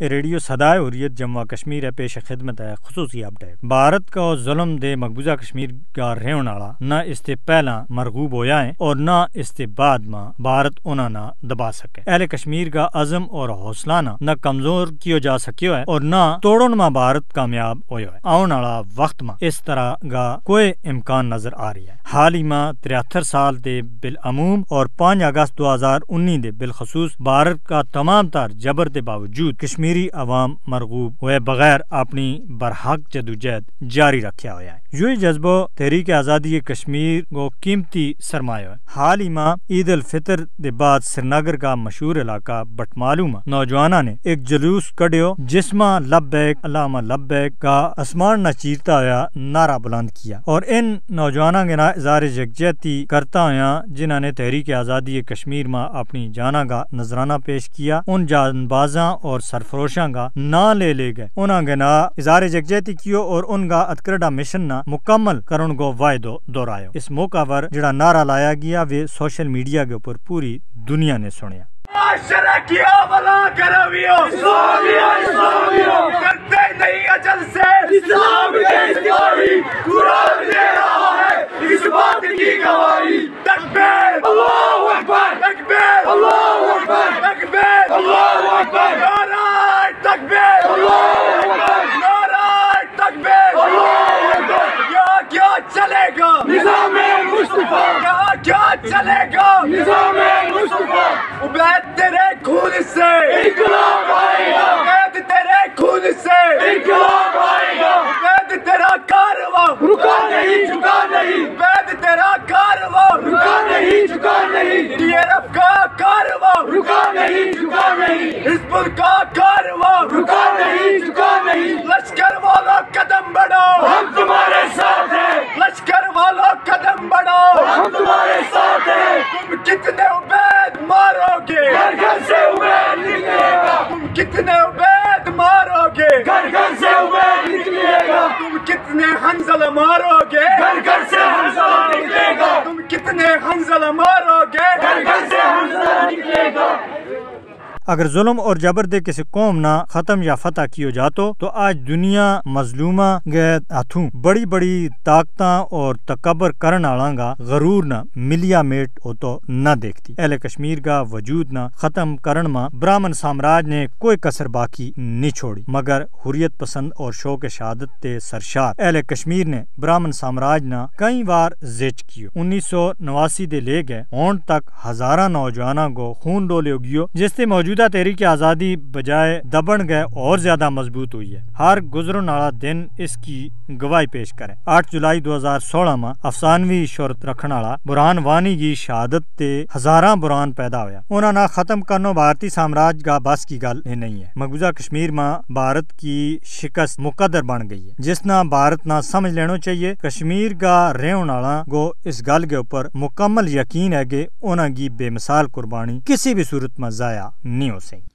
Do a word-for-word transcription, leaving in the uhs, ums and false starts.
ریڈیو سدائے حریت جموں و کشمیر ہے، پیش خدمت ہے خصوصی اپڈیٹ۔ بھارت کا ظلم دے مقبوضہ کشمیر کا رہن والا نہ اس تے پہلاں مرغوب ہویا ہے اور نہ اس تے بعد ما بھارت انہاں نا دبا سکے۔ اہل کشمیر کا عزم اور حوصلہ نا نہ کمزور کیو جا سکیو ہے اور نہ توڑن ما بھارت کامیاب ہویو ہے۔ آؤن والا وقت ما اس طرح کا کوئی امکان نظر آ رہی ہے۔ حال ہی ما تریہتر سال دے بالعموم اور پانچ اگست دو ہزار انی دے بالخصوص بھارت کا تمام تر جبر دے باوجود کشمیری عوام مرغوب ہوئے بغیر اپنی برحق جدوجہد جاری رکھیا ہویا ہے۔ یوہی جذبو تحریک آزادی کشمیر کو قیمتی سرمایو ہے۔ حال ہی ما عید الفطر دے بعد سرینگر کا مشہور علاقہ بٹمالو ما نوجواناں نے ایک جلوس کڈیو، جس ما لبیک اللہم لبیک کا آسمان نا چیرتا ہویا نعرہ بلند کیا اور ان نوجواناں کے نا اظہار یکجہتی کرتا ہویا جنہاں نے تحریک آزادی کشمیر ما اپنی جاناں کا نذرانہ پیش کیا، ان جانبازاں اور سرفروشاں کا ناں لے لے گئے۔ انہاں کے نا اظہار یکجہتی کیو اور ان کا اتکرڈا مشن نا مکمل کرن کو واعدو دہرایو۔ اس موقع پر جڑا نعرہ لایا گیا ویہ سوشل میڈیا کے اپر پوری دنیا نے سنیا۔ معاشرہ کی آبلا کرویو۔ اسلامیہ، اسلامیہ۔ ڈرتے نہیں اجل سے۔ اسلام کے سپاہی۔ قرآن دے رہا ہے اس بات کی گواہی۔ تکبیر۔ اللہ اکبر۔ تکبیر۔ اللہ اکبر۔ تکبیر۔ اللہ اکبر۔ نعرہ تکبیر۔ اللہ اکبر۔ نعرہ تکبیر۔ اللہ اکبر۔ کیا کیا چلے گا؟ نظام مصطفیٰ۔ کیا کیا چلے گا؟ نظام مصطفیٰ۔ عبید تیرے خون سے انقلاب آئے گا۔ عبید تیرے خون سے انقلاب آئے گا۔ عبید تیرا کارواں رکا نہیں، جھکا نہیں۔ عبید تیرا کارواں رکا نہیں، جھکا نہیں۔ ٹی آر ایف کا کارواں رکا نہیں، جھکا نہیں۔ حزب اللہ کا کارواں رکا نہیں، جھکا نہیں۔ لشکر والوں قدم بڑھاؤ، ہم تمہارے ساتھ ہیں۔ لشکر والوں قدم بڑھاؤ، ہم تمہارے ساتھ ہیں۔ تم کتنے عبید مارو گے؟ گھر گھر سے عبید نکلے گا۔ تم کتنے عبید مارو گے؟ گھر گھر سے عبید نکلے گا۔ تم کتنے حنظلہ مارو گے؟ گھر گھر سے حنظلہ نکلے گا۔ تم کتنے حنظلہ مارو گے؟ گھر گھر سے حنظلہ نکلے گا۔ اگر ظلم اور جبر دے کسے قوم نا ختم یا فتح کیو جاتو تو آج دنیا مظلومہ کے ہتھوں بڑی بڑی طاقتاں اور تکبر کرن آلاں کا غرور نا ملیا میٹ ہوتو نہ دیکھتی۔ اہل کشمیر کا وجود نا ختم کرن ما براہمن سامراج نے کوئی کسر باقی نہیں چھوڑی، مگر حریت پسند اور شوق شہادت تے سرشار اہل کشمیر نے براہمن سامراج نا کئی وار زچ کیو۔ انیس سو نواسی دے لے گئے ہون تک ہزاراں نوجواناں کو خون ڈولیو گیو، جس تے موجودہ تحریک آزادی بجائے دبن گئے اور زیادہ مضبوط ہوئی ہے۔ ہر گزرن آلا دن اس کی گواہی پیش کرے۔ آٹھ جولائی دو ہزار سولہ ما افسانوی شہرت رکھن آلا برہان وانی کی شہادت تے ہزاراں برہان پیدا ہویا۔ انہاں نا ختم کرنو بھارتی سامراج کا بس کی گل ہی نہیں ہے۔ مقبوضہ کشمیر ما بھارت کی شکست مقدر بن گئی ہے، جس نا بھارت نا سمجھ لینو چاہیے۔ کشمیر کا رہن آلاں کو اس گل کے اپر مکمل یقین ہے کہ انہاں کی بے مثال قربانی کسی بھی صورت ما ضائع نہیں ہو سکتی۔